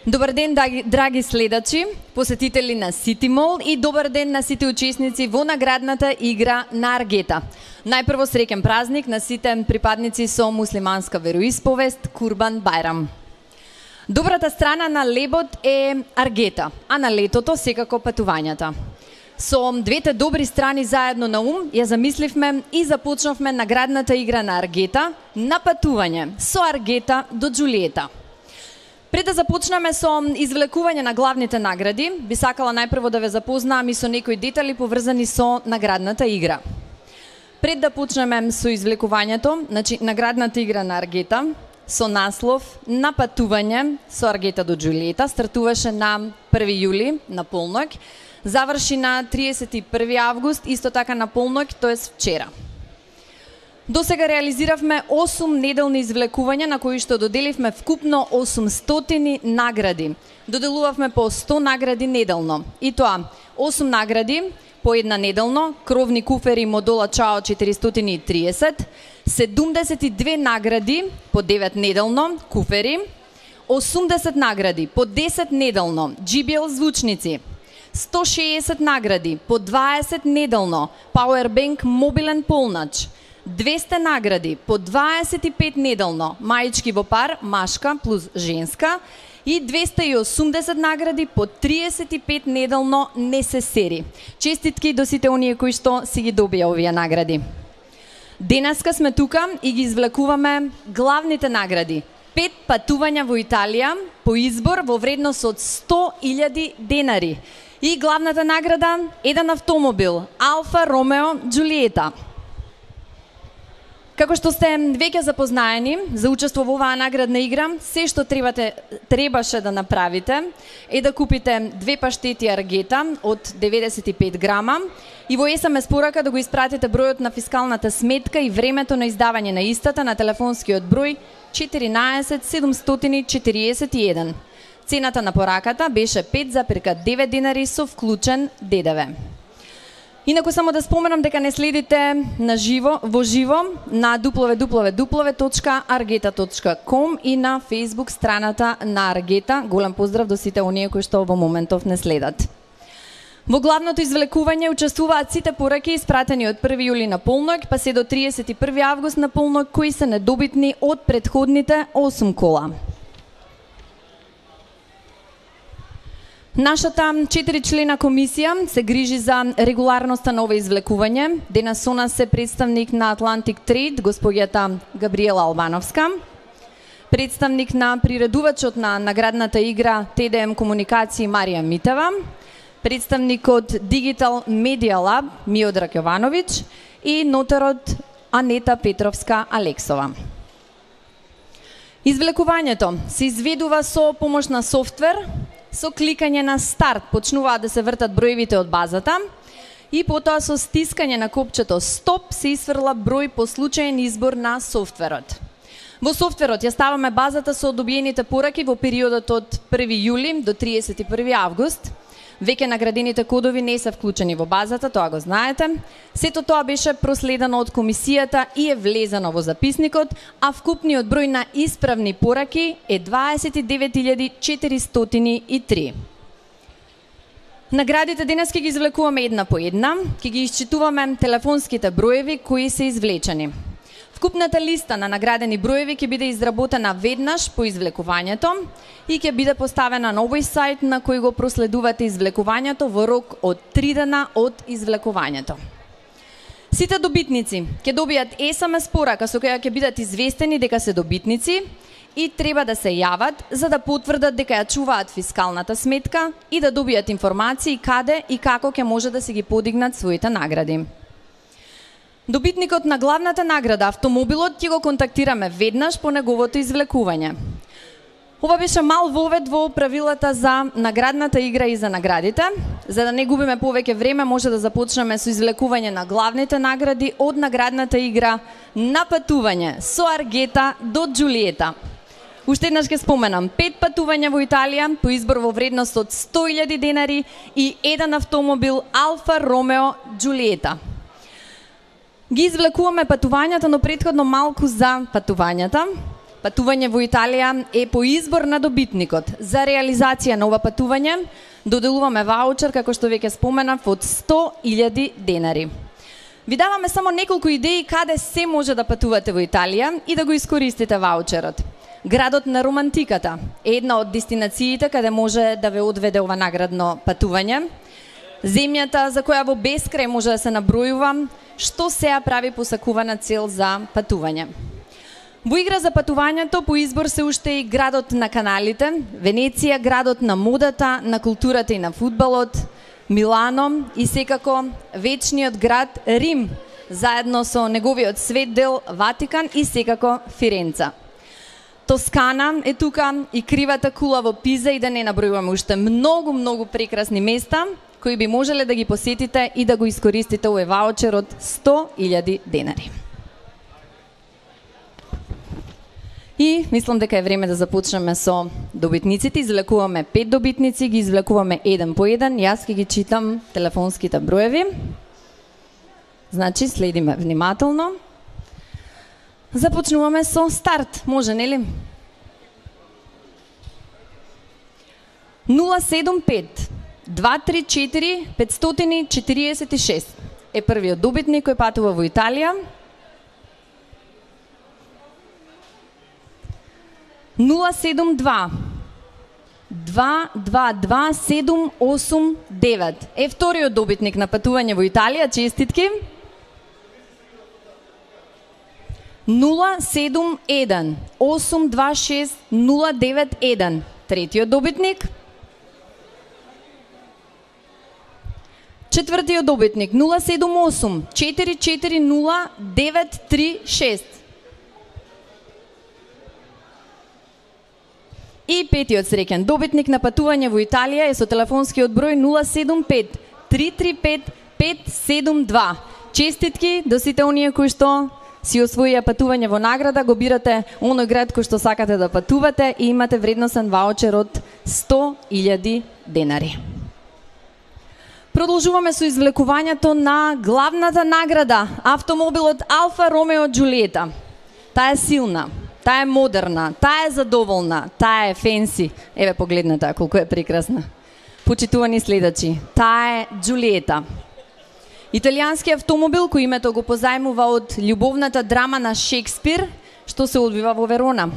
Добар ден, драги следачи, посетители на Сити Мол и добар ден на сите учесници во наградната игра на Аргета. Најпрво среќен празник на сите припадници со муслиманска вероисповест Курбан Бајрам. Добрата страна на лебот е Аргета, а на летото секако патувањата. Со двете добри страни заедно на ум ја замисливме и започнавме наградната игра на Аргета на патување со Аргета до Џулиета. Пред да започнеме со извлекување на главните награди, би сакала најпрво да ве запознаам и со некои детали поврзани со наградната игра. Пред да почнеме со извлекувањето, значи наградната игра на Аргета со наслов на патување со Аргета до Џулиета стартуваше на 1 јули на полноќ, заврши на 31 август, исто така на полноќ, тоест вчера. До сега реализиравме 8 неделни извлекувања на кои што доделивме вкупно 800 награди. Доделувавме по 100 награди неделно. И тоа 8 награди по една неделно, кровни куфери модула Чао 430, 72 награди по 9 неделно, куфери, 80 награди по 10 неделно, JBL звучници, 160 награди по 20 неделно, Powerbank мобилен полнач, 200 награди по 25 неделно, маички во пар, машка плюс женска, и 280 награди по 35 неделно несесери. Честитки до сите оние кои што си ги добија овие награди. Денеска сме тука и ги извлекуваме главните награди. 5 патувања во Италија по избор во вредност од 100.000 денари. И главната награда, еден автомобил, Алфа Ромео Џулиета. Како што сте веќе запознаени за учество во оваа наградна игра, се што требаше да направите е да купите 2 паштети Аргета од 95 грама и во SMS порака да го испратите бројот на фискалната сметка и времето на издавање на истата на телефонскиот број 14 741. Цената на пораката беше 5,9 денари со вклучен ДДВ. Инаку само да споменам дека не следите во живо на www.argeta.com и на Facebook страната на Аргета. Голем поздрав до сите оние кои што во моментов не следат. Во главното извлекување учествуваат сите пораки испратени од 1 јули на полноќ, па се до 31 август на полноќ, кои се недобитни од претходните 8 кола. Нашата 4-члена комисија се грижи за регуларноста на ова извлекување. Денес со нас е представник на Atlantic Trade, господјата Габриела Албановска, представник на приредувачот на наградната игра TDM Комуникации Марија Митева, представник од Digital Media Lab Миодраг Јовановиќ и нотарот Анета Петровска Алексова. Извлекувањето се изведува со помош на софтвер. Со кликање на старт почнуваат да се вртат броевите од базата и потоа со стискање на копчето стоп се исфрла број по случаен избор на софтверот. Во софтверот ја ставаме базата со добиените пораки во периодот од 1 јули до 31 август. Веќе наградените кодови не се вклучени во базата, тоа го знаете. Сето тоа беше проследено од комисијата и е влезено во записникот, а вкупниот број на исправни пораки е 29.403. Наградите денес ќе ги извлекуваме една по една, ќе ги исчитуваме телефонските броеви кои се извлечени. Вкупната листа на наградени броеви ќе биде изработена веднаш по извлекувањето и ќе биде поставена на овој сајт на кој го проследувате извлекувањето во рок од 3 дена од извлекувањето. Сите добитници ќе добијат SMS порака со која ќе бидат известени дека се добитници и треба да се јават за да потврдат дека ја чуваат фискалната сметка и да добијат информации каде и како ќе може да се ги подигнат своите награди. Добитникот на главната награда, автомобилот, ќе го контактираме веднаш по неговото извлекување. Ова беше мал вовед во правилата за наградната игра и за наградите. За да не губиме повеќе време, може да започнеме со извлекување на главните награди од наградната игра на патување со Аргета до Џулиета. Уште еднаш ќе споменам, 5 патувања во Италија по избор во вредност од 100.000 денари и еден автомобил Алфа Ромео Џулиета. Ги извлекуваме патувањата, но претходно малку за патувањата. патување во Италија е по избор на добитникот. За реализација на ова патување доделуваме ваучер, како што веќе споменав, од 100.000 денари. Ви даваме само неколку идеи каде се може да патувате во Италија и да го искористите ваучерот. Градот на романтиката е една од дестинациите каде може да ве одведе ова наградно патување. Земјата за која во бескрај може да се набројува, што сеа прави посакувана цел за патување. Во игра за патувањето по избор се уште и градот на каналите, Венеција, градот на модата, на културата и на фудбалот, Милано и секако вечниот град Рим, заедно со неговиот свет дел Ватикан и секако Фиренца. Тоскана е тука и кривата кула во Пиза и да не набројуваме уште многу прекрасни места кои би можеле да ги посетите и да го искористите овој ваучер од 100.000 денари. И мислам дека е време да започнеме со добитниците. Извлекуваме 5 добитници, ги извлекуваме еден по еден. Јас ќе ги читам телефонските броеви. Значи, следиме внимателно. Започнуваме со старт. Може, нели? 075 234 546 е првиот добитник кој патува во Италија. 072 222 789 е вториот добитник на патување во Италија. Честитки. 071 826 091 третиот добитник. Четвртиот добитник 078 440 936. И петиот среќен добитник на патување во Италија е со телефонскиот број 075 335 572. Честитки до сите оние кои што си освоија патување во награда, го бирате оној град кој што сакате да патувате и имате вредносен ваучер од 100.000 денари. Продолжуваме со извлекувањето на главната награда, автомобилот Алфа Ромео Џулиета. Таа е силна, таа е модерна, таа е задоволна, таа е фенси. Еве погледнете колку е прекрасна. Почитувани следачи, таа е Џулиета. Италијански автомобил кој името го позајмува од љубовната драма на Шекспир, што се одвива во Верона.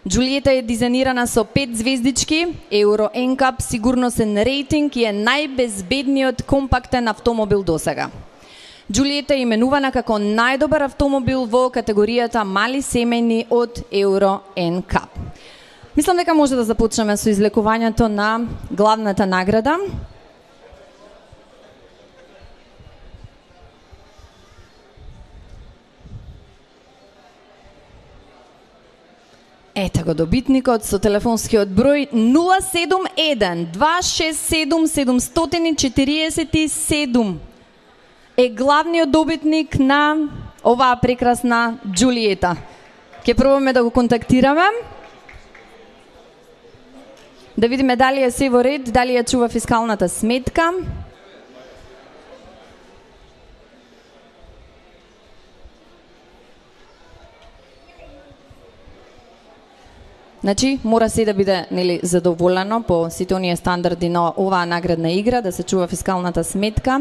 Џулиета е дизајнирана со 5 звездички, Euro NCAP сигурносен рейтинг и е најбезбедниот компактен автомобил досега. Џулиета е именувана како најдобар автомобил во категоријата мали семејни од Euro NCAP. Мислам дека може да започнеме со извлекувањето на главната награда. Ете го добитникот со телефонскиот број 071 267 747 е главниот добитник на оваа прекрасна Џулиета. Ќе пробаме да го контактираме. Да видиме дали е се во ред, дали ја чува фискалната сметка. Значи, мора се да биде задоволено по сите оние стандарди на оваа наградна игра, да се чува фискалната сметка.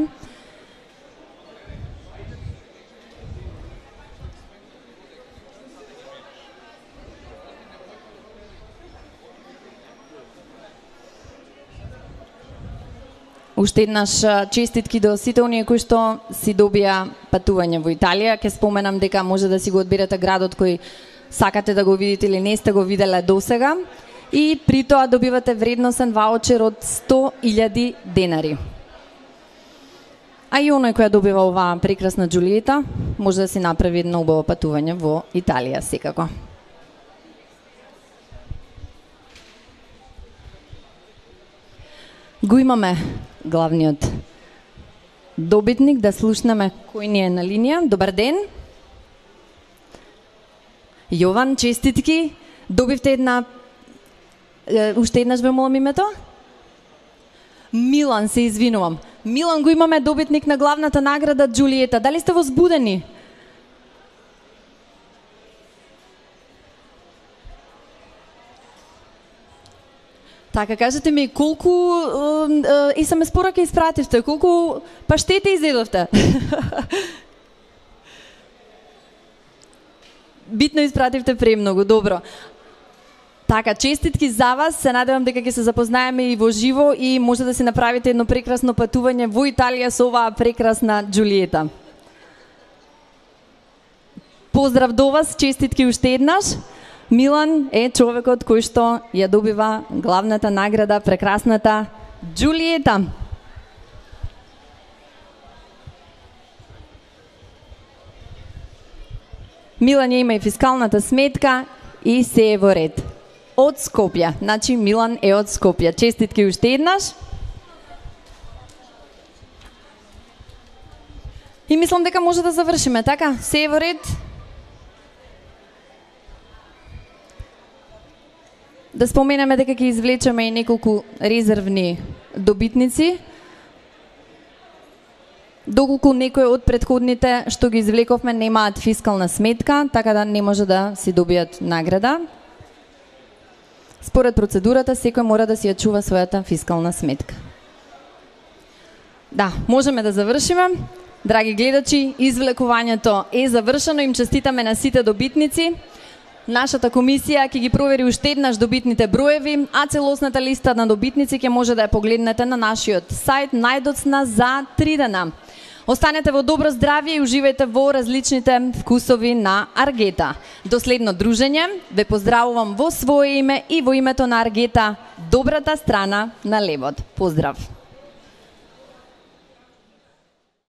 Уште еднаш честитки до сите оние кои што си добија патување во Италија. Ке споменам дека може да си го одберете градот кој сакате да го видите или не сте го виделе досега и при тоа добивате вредносен ваучер од 100.000 денари. А и оној кој добива оваа прекрасна Џулиета може да си направи едно убаво патување во Италија секако. Го имаме главниот добитник, да слушнеме кој ни е на линија. Добар ден. Јован, честитки. Добивте уште еднаш ве молам името? Милан, се извинувам. Милан, го имаме добитник на главната награда Џулиета. Дали сте возбудени? Така, кажете ми, колку SMS пораки испративте, колку паштети изедовте? Битно испративте премногу, добро. Така, честитки за вас, се надевам дека ќе се запознаеме и во живо и може да си направите едно прекрасно патување во Италија со оваа прекрасна Џулиета. Поздрав до вас, честитки уште еднаш. Милан е човекот кој што ја добива главната награда, прекрасната Џулиета. Милан ја има и фискалната сметка и се е во ред. Од Скопје, значи Милан е од Скопје. Честитки уште еднаш. И мислам дека може да завршиме, така? Се е во ред? Да споменеме дека ќе извлечеме и неколку резервни добитници. Доколку некој од претходните што ги извлековме немаат фискална сметка, така да не може да си добијат награда. Според процедурата, секој мора да си ја чува својата фискална сметка. Да, можеме да завршиме. Драги гледачи, извлекувањето е завршено. Им честитаме на сите добитници. Нашата комисија ќе ги провери уште еднаш добитните броеви, а целосната листа на добитници ќе може да ја погледнете на нашиот сајт најдоцна за 3 дена. Останете во добро здравје и уживајте во различните вкусови на Аргета. До следно дружење, ве поздравувам во свое име и во името на Аргета, добрата страна на левот. Поздрав!